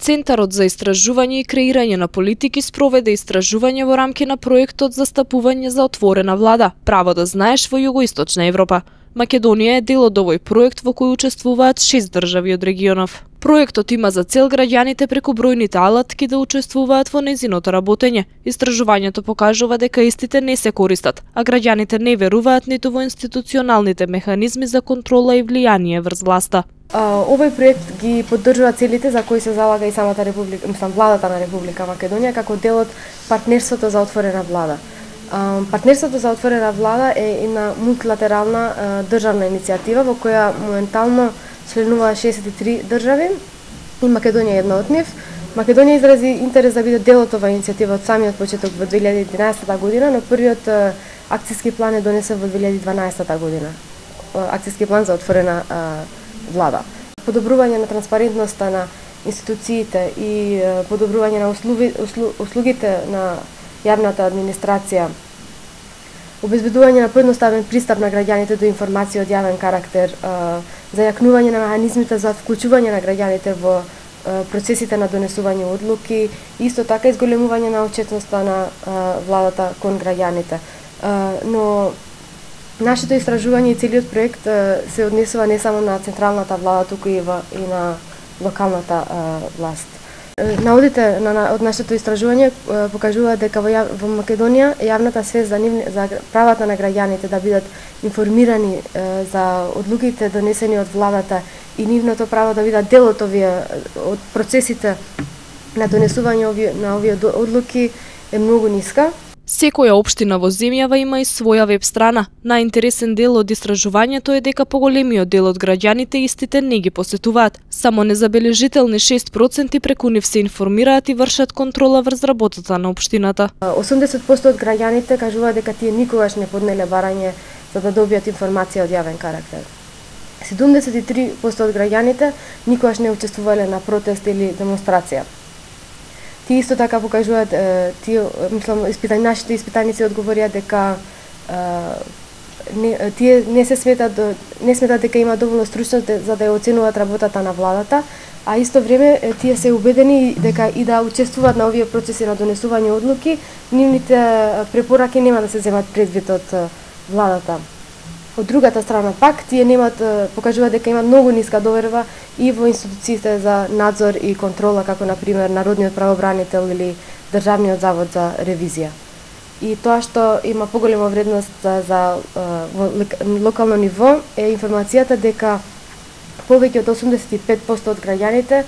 Центарот за истражување и креирање на политики спроведе истражување во рамки на проектот за стапување за отворена влада, право да знаеш во Југоисточна Европа. Македонија е дел од овој проект во кој учествуваат 6 држави од регионов. Проектот има за цел граѓаните преку бројните алатки да учествуваат во нејзиното работење. Истражувањето покажува дека истите не се користат, а граѓаните не веруваат ниту во институционалните механизми за контрола и влијание врз власта. Овој проект ги поддржува целите за кои се залага и самата република, владата на Република Македонија како дел од партнерството за отворена влада. Партнерството за отворена влада е една мултилатерална државна иницијатива во која моментално членува 63 држави и Македонија е една од нив. Македонија изрази интерес да биде дел од оваа иницијатива од самиот почеток во 2011 година, но првиот акциски план е донесен во 2012 година. Акциски план за отворена влада. Подобрување на транспарентноста на институциите и подобрување на услугите на јавната администрација, обезбедување на поедноставен пристап на граѓаните до информации од јавен карактер, зајакнување на механизмите за вклучување на граѓаните во процесите на донесување одлуки, исто така изголемување на отчетноста на владата кон граѓаните. Но нашето истражување и целиот проект се однесува не само на централната влада, туку и на локалната власт. Наодите од нашето истражување покажува дека во Македонија јавната свест за правата на граѓаните да бидат информирани за одлуките донесени од владата и нивното право да бидат дел од процесите на донесување на овие одлуки е многу ниска. Секоја општина во земјава има и своја веб страна. Најинтересен дел од истражувањето е дека поголемиот дел од граѓаните истите не ги посетуваат. Само незабележителни 6% преку нив се информираат и вршат контрола врз работата на општината. 80% од граѓаните кажуваат дека тие никогаш не поднеле барање за да добијат информација од јавен карактер. 73% од граѓаните никогаш не учествувале на протест или демонстрација. Тие исто така покажуваат, нашите испитаници одговорија дека тие не сметат дека има доволно стручност за да ја оценуваат работата на владата, а исто време тие се убедени дека и да учествуваат на овие процеси на донесување одлуки, нивните препораки нема да се земат предвид од владата. Од другата страна пак, тие покажуваат дека има многу ниска доверба и во институциите за надзор и контрола, како например Народниот правобранител или Државниот завод за ревизија. И тоа што има поголема вредност во локално ниво е информацијата дека повеќе од 85% од граѓаните,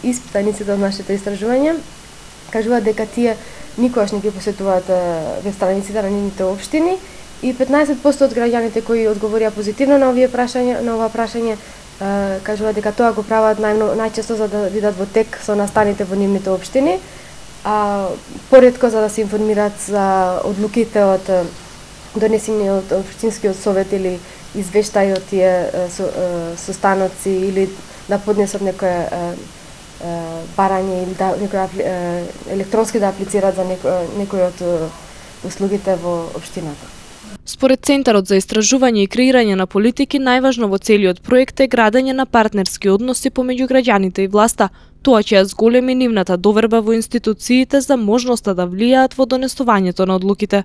испитаниците од нашето истражување, кажуваат дека тие никогаш не ги посетуваат веб страниците на нивните општини и 15% од граѓаните кои одговорија позитивно на ова прашање кажуваат дека тоа го прават најчесто за да видат во тек со настаните во нивните општини, а поретко за да се информираат за одлуките од донесени од општинскиот совет или извештаи од тие состаноци или да поднесат некое барање или електронски да аплицираат за некој од услугите во општината. Според Центарот за истражување и креирање на политики, најважно во целиот проект е градење на партнерски односи помеѓу граѓаните и власта. Тоа ќе ја зголеми нивната доверба во институциите за можноста да влијаат во донесувањето на одлуките.